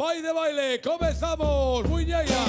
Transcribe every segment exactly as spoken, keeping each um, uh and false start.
Pai de baile, comezamos, muñeira.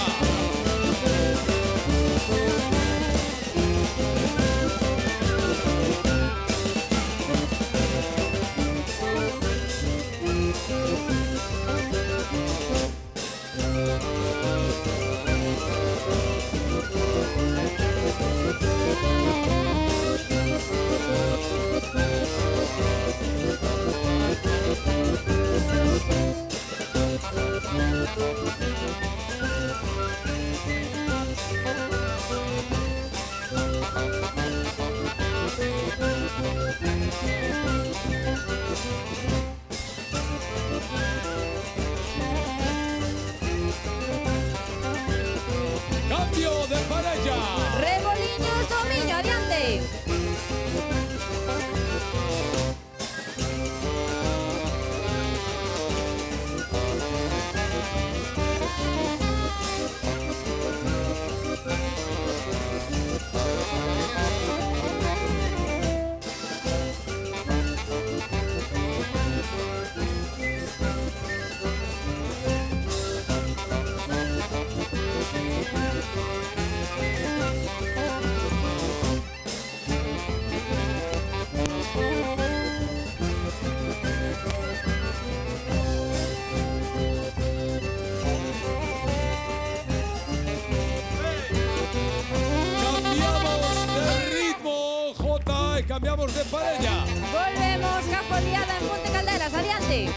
Cambio de parella. Reboliños Tomiño, adiante. Cambiamos de parella. Volvemos, Cafoliada en Monte Calderas, adiante.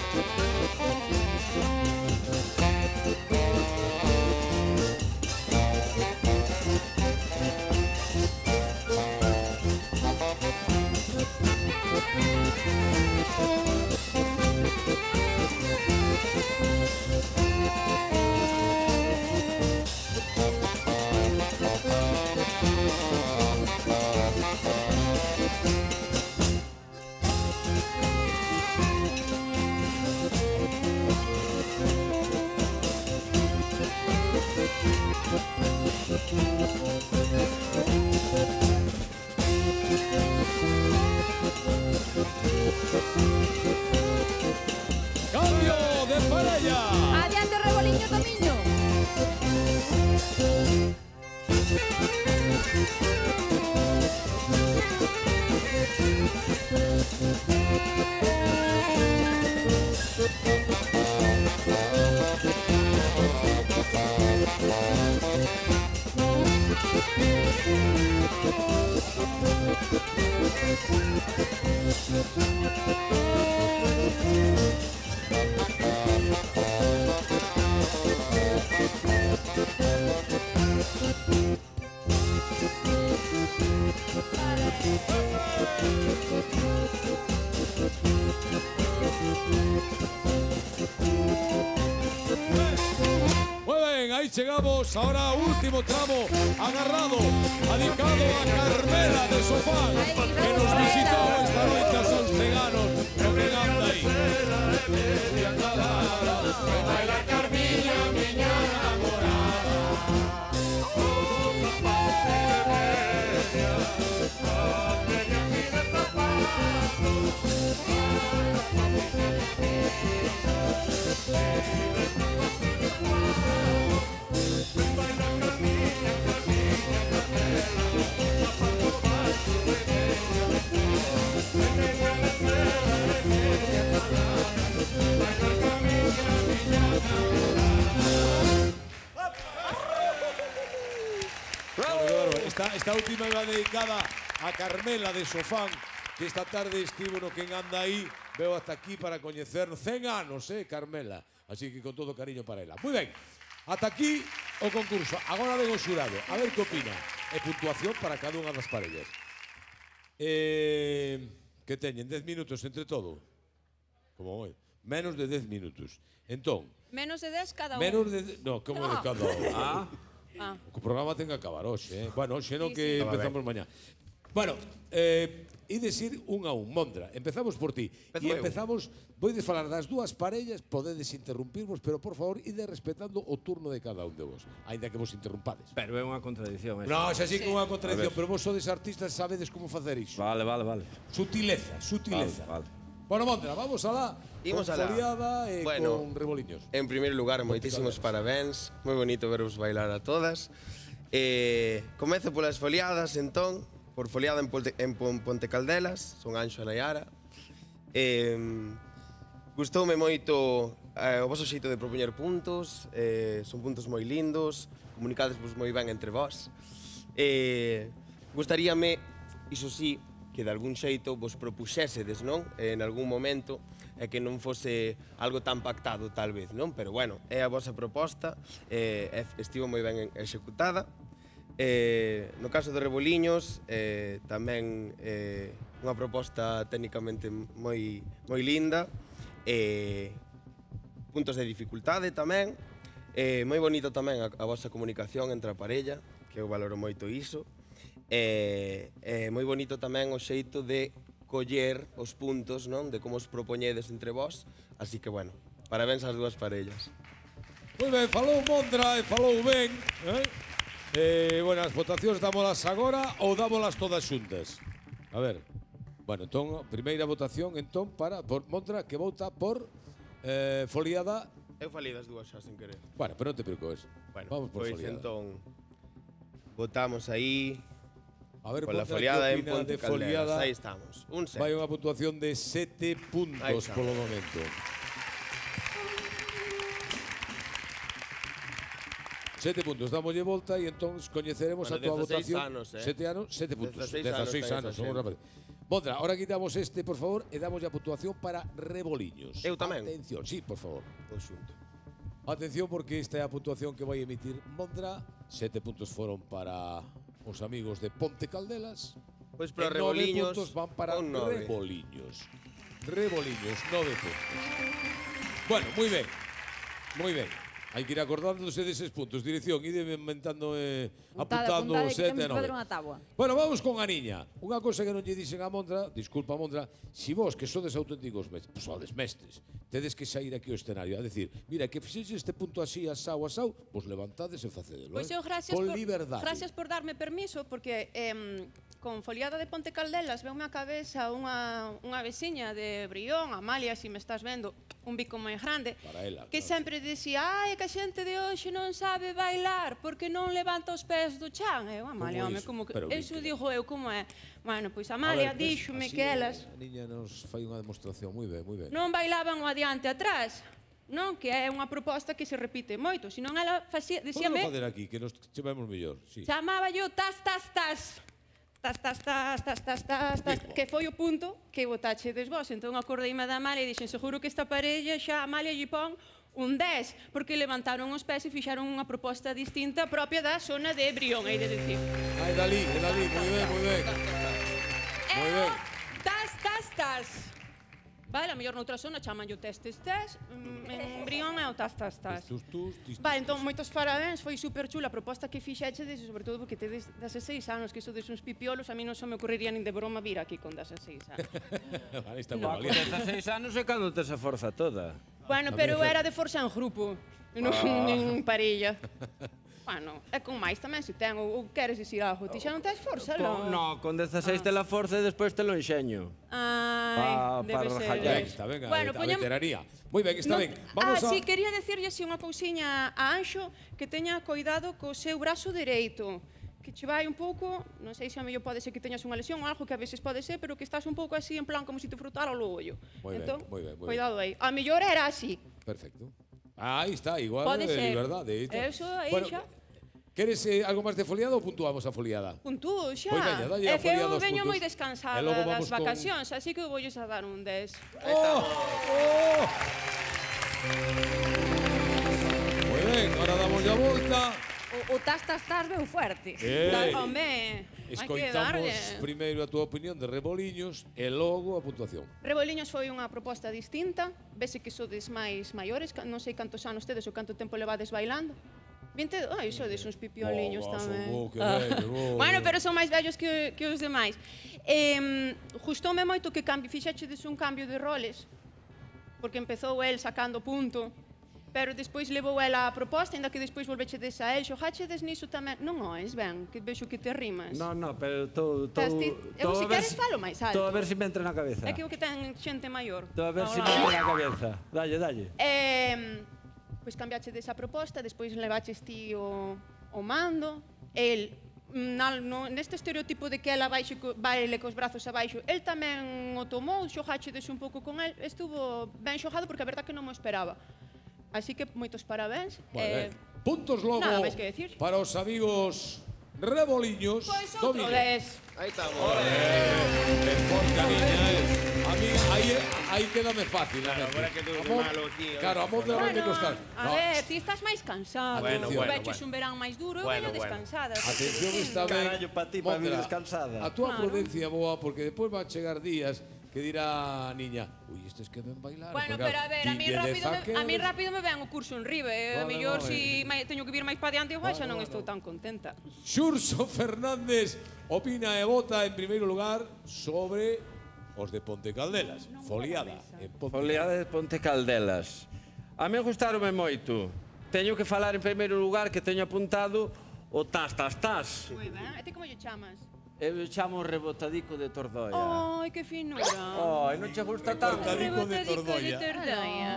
Cambio de parella. Adiante, Reboliño Tomiño. Muy bien, ahí llegamos. Ahora último tramo agarrado, dedicado a Carmela de Sofán, que nos visitó esta noche a Sons Ceganos. Pero que anda ahí. Baila Carmilla, miña namorada. Outra parte de media, a media vida Esta, esta última va dedicada a Carmela de Sofán, que esta tarde estivo no Quen Anda Aí. Veo hasta aquí para coñecernos. cen anos, eh, Carmela. Así que con todo cariño para ela. Muy ben, ata aquí o concurso. Agora ven o xurado. A ver que opina. E puntuación para cada unha das parellas. Eh, que teñen dez minutos entre todo. Como hoy. Menos de dez minutos. Entón, Menos de dez cada un. menos de... No, como de cada un. Ah, Ah. O programa ten que acabar hoxe, eh? Bueno, hoxe non Sí, que sí. empezamos mañá. Bueno, eh, e decir un a un. Mondra, empezamos por ti. Empezo E eu. empezamos, voides falar das dúas parellas, podedes interrumpirvos, pero por favor, ide respetando o turno de cada un de vos, aínda que vos interrumpades. pero é unha contradición. esa. Non, xa sí que é unha contradición, A ver. pero vos sodes artistas, sabedes como facer iso. Vale, vale, vale. Sutileza, sutileza. Vale, vale. Bueno, Montra, vamos alá. Imos con alá. foliada e Bueno, con reboliños. En primeiro lugar, moitísimos parabéns. Moi bonito veros bailar a todas. Eh, comezo polas foliadas, entón, por foliada en, Ponte, en Pon- Ponte Caldelas, son Anxo e Nayara. Eh, gustoume moito eh, o vosso xeito de propoñer puntos, eh, son puntos moi lindos, comunicadesvos moi ben entre vós. Eh, gustaríame, iso sí, que de algún xeito vos propuxésedes, non? En algún momento, e que non fose algo tan pactado, tal vez, non? Pero, bueno, é a vosa proposta, eh, estivo moi ben executada. Eh, no caso de Reboliños, eh, tamén eh, unha proposta técnicamente moi, moi linda, eh, puntos de dificultade tamén, eh, moi bonito tamén a, a vosa comunicación entre a parella, que eu valoro moito iso, e eh, eh, moi bonito tamén o xeito de coller os puntos, non? De como os propoñedes entre vós, así que, bueno, parabéns ás dúas parellas. Moi ben, falou Montra e falou ben. Eh? Eh, bueno, as votacións dámolas agora ou dámolas todas xuntas? A ver. Bueno, entón, primeira votación, entón, para por Montra, que vota por eh, foliada. Eu falei das dúas xa sen querer. Bueno, pero non te preocupes. Bueno, vamos por pois foliada. entón, votamos aí A ver, pola Montra, foliada que en opina Ponte de Caldelas. foliada? Aí estamos, un set. Vai unha puntuación de sete Aí puntos está. polo momento. Sete puntos, dámoslle volta e entón coñeceremos Bueno, a tua dezaseis votación. anos, eh. Sete anos, sete puntos. dezaseis dezaseis anos, anos, somos ten esa rapaces. Montra, ahora quitamos este, por favor, e damos a puntuación para Reboliños. Eu tamén? Atención, sí, por favor. Todo xunto. Atención, porque esta é a puntuación que vai emitir Montra. Sete puntos foron para os amigos de Ponte Caldelas. Pois para E nove Reboliños, puntos van para un nove. Reboliños. Reboliños, nove puntos. Bueno, moi ben. Moi ben. Hai que ir acordándose deses puntos. Dirección, ide inventando, eh, Puntada, apuntando puntada, que sete temos e que nove. facer unha táboa. Bueno, vamos con a niña. Unha cosa que non lle dixen a Montra, disculpa Montra, si vos que sodes auténticos mestres, pues, sodes mestres, tedes que sair aquí ao escenario, a decir, mira, que fixexe este punto así, asau, asau, vos levantades e facedelo, Pois eh? eu gracias con por, liberdade. gracias por darme permiso, porque em, con foliada de Ponte Caldelas veume a cabeza unha, unha veciña de Brión, Amalia, se me estás vendo, un bico moi grande, Para ela, que claro. sempre dicía, ai, que a xente de hoxe non sabe bailar, porque non levanta os pés do chan. Eu, Amalia, Como home, iso? como que... Pero Eso Víctor. digo eu, como é? Bueno, pois A Amalia ver, ves, díxome así que elas A niña nos fai unha demostración, moi ben, moi ben. non bailaban o adiante e atrás, non? Que é unha proposta que se repite moito, senón ela facía, Podemos dicíame... facer aquí, que nos chamemos mellor, sí. Chamaba yo tas, tas, tas. Tas, tas, tas, tas, tas, tas, tas, Tipo. que foi o punto que votachedes vos. Entón acordeime da Amalia e dixen, seguro que esta parella xa a Amalia lle pon un dez, porque levantaron os pés e fixaron unha proposta distinta propia da zona de Brión, hai de decir. Ai, Dalí, é Dalí, moi ben, moi ben. Moi ben. Tas, tas, tas. Vale, a mellor noutra zona chaman yo tes, tes, tes. Mm, En Brión é o tas, tas, tas. Tus, tus, tis, Vale, tis, entón, tis. moitos parabéns, foi super chula a proposta que fixechedes, e sobre todo porque tedes dezaseis anos, que sodes uns pipiolos, a mí non se me ocurriría nin de broma vir aquí con dezaseis anos. Vale, está No. moi valiente. dezaseis anos é cando tes a forza toda. Bueno, pero era de forza en grupo, non en parella. Bueno, é con máis tamén se ten, ou, ou queres dicir algo, ti xa non tens forza, Con, non? no, con dezaseis te la forza e despois te lo enxeño. Ai, Pa- debe para ser. rajallar. Ben, está ben, a, Bueno, a poñam- veteranía. Moi ben, está Non- ben. Vamos ah, a... sí, quería decirlle así unha cousiña a Anxo, que teña coidado co seu brazo dereito, que che vai un pouco, non sei se a mellor pode ser que teñas unha lesión ou algo que a veces pode ser, pero que estás un pouco así en plan como se te frotara o ollo. Moi ben, entón, moi ben, moi ben. cuidado aí. A mellor era así. Perfecto. Aí está, igual Pode de ser. liberdade. aí está. Eso aí bueno, xa. Queres eh, algo máis de foliada ou puntuamos a foliada? Puntúo xa. Pois veña, dalle é a que eu foliada aos veño puntos. moi descansada E logo vamos das con- vacacións, así que eu voulles a dar un dez. ¡Oh! ¡Oh! Moi ben, ahora damos a volta. O, o tas, tas, tas veu fuerte. Eh, Da- Home, hai que Escoitamos darlle. primeiro a túa opinión de Reboliños e logo a puntuación. Reboliños foi unha proposta distinta. Vese que sodes máis maiores, ca- non sei cantos anos tedes ou canto tempo levades bailando. vinte, ai, sodes uns pipioliños Oh, tamén. son bo, que vello, bo. Bueno, pero son máis vellos que, que os demais. Eh, Gustoume moito que cambi, fixechedes un cambio de roles, porque empezou el sacando punto, pero despois levou ela a proposta, ainda que despois volvechedes a el, xogachedes niso tamén. Non oes, ben, que vexo que te rimas. No, no, pero tô... tô Estás ti- eu, se queres, falo máis alto. Tô a ver se me entra na cabeza. É que o que ten xente maior. Tô a ver ao se me lado. entra na cabeza. Dalle, dalle. Eh, pois cambiachedes a proposta, despois levaches ti o, o mando, el, na, no, neste estereotipo de que ela baixe, co- baile cos brazos abaixo, el tamén o tomou, xogachedes un pouco con el, estuvo ben xogado porque a verdad que non mo esperaba. Así que moitos parabéns. Vale. Eh, Puntos logo nada máis que decir. para os amigos reboliños. pois outro Domínguez. des. Aí estamos. Eh, forte a niña, eh. A mí aí, aí quédame fácil. Claro, a mí. agora que tú A de mo- malo aquí, Claro, a moza vai me costar. a No, ver, ti estás máis cansado. Bueno, Tú bueno, veches bueno. un verán máis duro, eu Bueno, veño bueno. descansada. Atención, está ben. Carallo, pa ti, pa Mondra, vir descansada. A túa Claro. prudencia boa, porque despois van chegar días que dirá a niña, ui, estes que ven bailar. Bueno, porque, pero a ver, a mí tiñe rápido me, dez a mí anos. rápido me ven o curso en Ribe. Eh? A Vale, mellor vale. si mai, teño que vir máis pa diante, igual xa Vale, non vale. estou tan contenta. Xurso Fernández opina e vota en primeiro lugar sobre os de Ponte Caldelas. Foliada en Ponte Foliada de Ponte Caldelas. A mí gustaronme moito. Teño que falar en primeiro lugar que teño apuntado o tas, tas, tas. Moi ben. E ti como lle chamas? Eu chamo rebotadico de Tordoia. Ai, que finura. Ai, non che gusta tanto? Rebotadico de Rebotadico Tordoia. de Tordoia.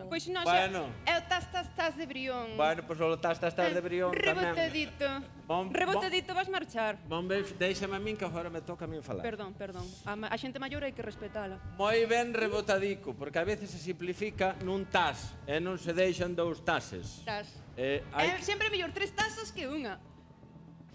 Pois non, Bueno. xa, é o tas, tas, tas de Brión. Bueno, pois o tas, tas, tas de Brión tamén. Rebotadito. Bon- Rebotadito vas marchar. Bon, ve- deixame a min que agora me toca a min falar. Perdón, perdón. A, ma- a xente maior hai que respetala. Moi ben rebotadico, porque a veces se simplifica nun tas e non se deixan dous tases. Tas. Eh, É hai sempre mellor tres tazas que unha.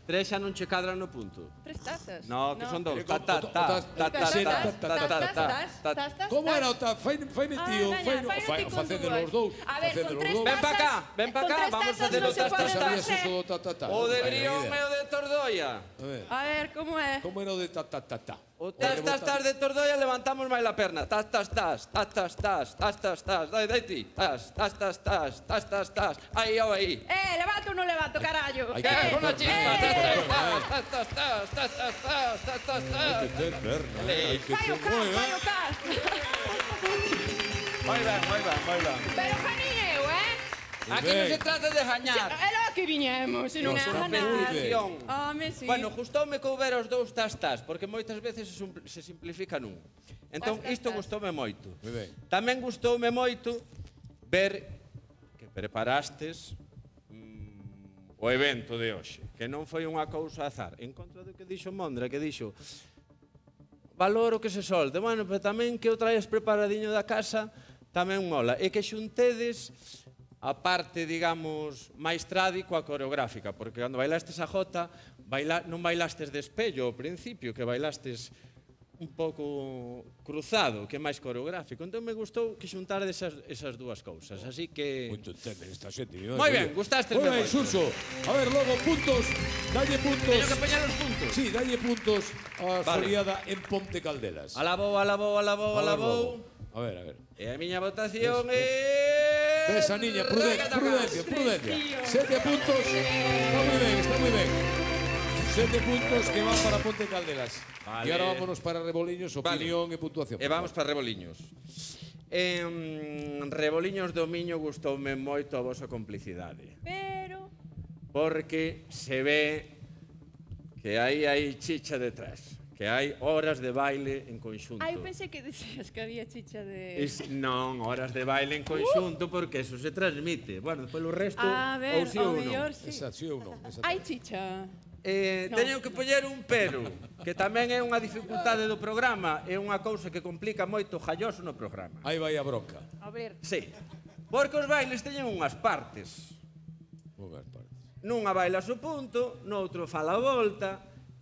tres xa non che cadran no punto. Tres tazas. No, que son dous. Eh, Ta, co- ta, o- o ta, tas- ta, ta, tas- ta, tas- ta, ta, ta, ta, ta. Como era o ta? Fai, faime tío, Ah, fai, veña, fai, faino ti con facédelo dúas. os dous. A ver, facédelo con os tres dous. Ven pa cá, ven pa Con cá, tres vamos a tazas hacer non o se tas, pode tas, Sabías tas. eso do ta, ta, ta? O de Vai, Brión ni e idea. o de Tordoia. A ver, A ver, como é? como era o de ta, ta, ta, ta? O tas, tas, tas de Tordoia levantamos máis la perna. Tas, tas, tas, tas, tas, tas, tas, tas, tas. Dai, dai ti. Tas, tas, tas, tas, tas, tas, tas. Aí, ó, aí. Eh, levanto ou non levanto, carallo? Hai Que que Eh, con a ter chispa. perna, Tas, tas, tas, tas, tas, tas, tas, tas, tas, tas. Hai que ter perna, eh, hai que Fai o ter- cas, Moi ben. fai o cas. Moi ben, moi ben, moi ben. Pero gañei eu, eh? Aquí non se trata de gañar. É lo que viñemos, se non é a Nosa ganar. Competición. Home, sí. Bueno, gustoume que houbera os dous tas tas, porque moitas veces se, sumpl- se simplifica nun. Entón, Tas, tas, isto tas. gustoume moito. Moi ben. Tamén gustoume moito ver que preparastes mm, o evento de hoxe, que non foi unha cousa azar. En contra do que dixo Mondra, que dixo valoro que se solte. Bueno, pero tamén que o traes preparadiño da casa tamén mola. E que xuntedes a parte, digamos, máis tradi coa coreográfica, porque cando bailastes a jota, baila, non bailastes de espello ao principio, que bailastes un pouco cruzado, que é máis coreográfico. Entón me gustou que xuntar esas, esas dúas cousas. Así que... Moito entende esta xente. Moi ben, gustastes Moi ben, me moito. Xurso. A ver, logo, puntos. Dalle puntos. Teño que poñer os puntos. Sí, dalle puntos a Vale. foliada en Ponte Caldelas. Alabou, alabou, alabou, A ver, alabou. logo. A ver, a ver. E a miña votación é... Ves a niña, prudencia, prudencia, prudencia. Sete puntos. Está moi ben, está moi ben. Sete puntos que van para Ponte Caldelas. Vale. E ahora vámonos para Reboliños, opinión e puntuación. E vamos para Reboliños. En Reboliños do Miño gustoume moito a vosa complicidade. Pero... Porque se ve que aí hai chicha detrás. Que hai horas de baile en conxunto. Ai, pensei que decías que había chicha de... Es, non, horas de baile en conxunto porque eso se transmite. Bueno, polo resto, A ver, ou si o ou non. mellor sí. Esa, sí ou non? Esa Hai chicha. Eh, No. teño que poñer un pero, que tamén é unha dificultade do programa, é unha cousa que complica moito o Jalloso no programa. Aí vai a bronca. A ver. Sí, porque os bailes teñen unhas partes. Unhas partes. Nunha bailas o punto, noutro fala a volta,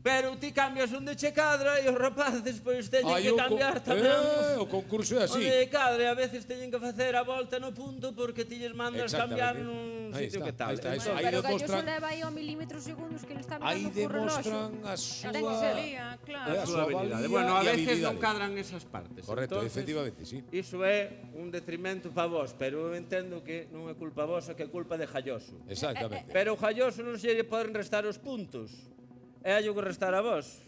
pero ti cambias onde che cadra e os rapaces pois teñen Hai que o co- cambiar tamén. Eh, o concurso é así. Onde cadre, a veces teñen que facer a volta no punto porque ti lles mandas cambiar Exactamente. nun Aí sitio está, que tal. aí está, Entón, eso. Aí Pero Galloso demostran- leva aí ao milímetros segundos que ele está Aí mirando co reloxo. demostran a súa... Ten que ser. Sería, claro. Eh, a súa habilidade. valía Bueno, a e veces non habilidade. cadran esas partes. Correcto, Entonces, efectivamente, sí. Iso é un detrimento pa vos, pero eu entendo que non é culpa vosa, que é culpa de Jalloso. Exactamente. Pero o Jalloso non se lle poden restar os puntos. É allo que restar a vos.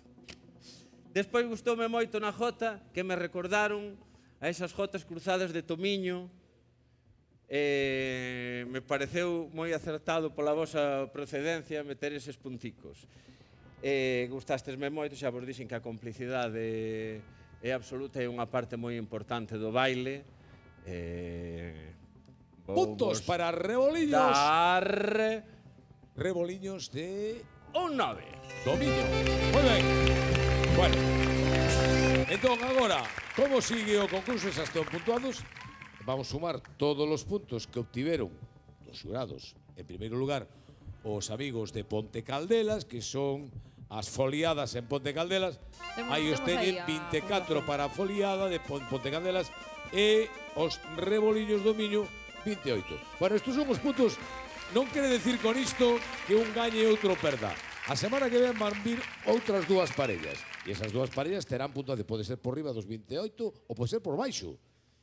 Despois gustoume moito na jota que me recordaron a esas jotas cruzadas de Tomiño eh, me pareceu moi acertado pola vosa procedencia meter eses punticos. Eh, gustastesme moito, xa vos dixen que a complicidade é absoluta e unha parte moi importante do baile. Eh, Puntos vos para Reboliños. dar Reboliños de un nove. Dominio. Moi ben. Bueno. Entón, agora, como sigue o concurso? Xa están puntuados. Vamos sumar todos os puntos que obtiveron os xurados. En primeiro lugar, os amigos de Ponte Caldelas, que son as foliadas en Ponte Caldelas. Temos- Aí os temos aí teñen a vinte e catro puntuación. para a foliada de Pon- Ponte Caldelas e os Reboliños do Miño vinte e oito. Bueno, estos son os puntos. Non quere decir con isto que un gañe e outro perda. A semana que ven van vir outras dúas parellas. E esas dúas parellas terán puntuación. Pode ser por riba dos vinte e oito ou pode ser por baixo.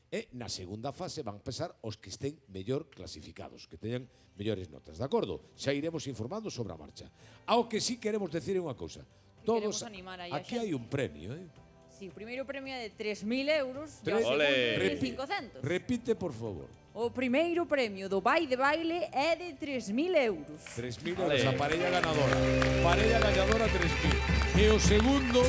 E na segunda fase van pesar os que estén mellor clasificados, que teñan mellores notas, de acordo? Xa iremos informando sobre a marcha. Ao que sí queremos decir unha cousa. Queremos Todos, animar aí a aquí xente. hai un premio, eh? Sí, o primeiro premio é de tres mil euros e o Tres- segundo Ole. de mil Repi- cincocentos. Repite, por favor. O primeiro premio do Vai de Baile é de tres mil euros. tres mil Vale. euros a parella ganadora. Parella ganadora tres mil. E o segundo,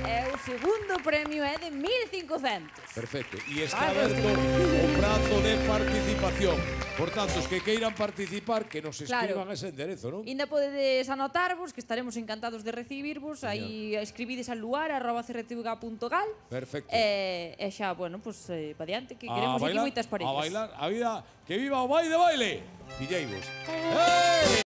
E o segundo premio é de mil cincocentos. perfecto. E está Vale. aberto o prazo de participación. Por tanto, os que queiran participar, que nos escriban Claro. ese enderezo, non? Inda podedes anotarvos, que estaremos encantados de recibirvos. Aí escribides al luar, arroba c r t v g punto gal. Perfecto. E, e xa, bueno, pues, eh, pa diante, que A queremos aquí bailar, moitas a parellas. bailar, a vida, que viva o baile de baile. Pilleiros. ¡Eh!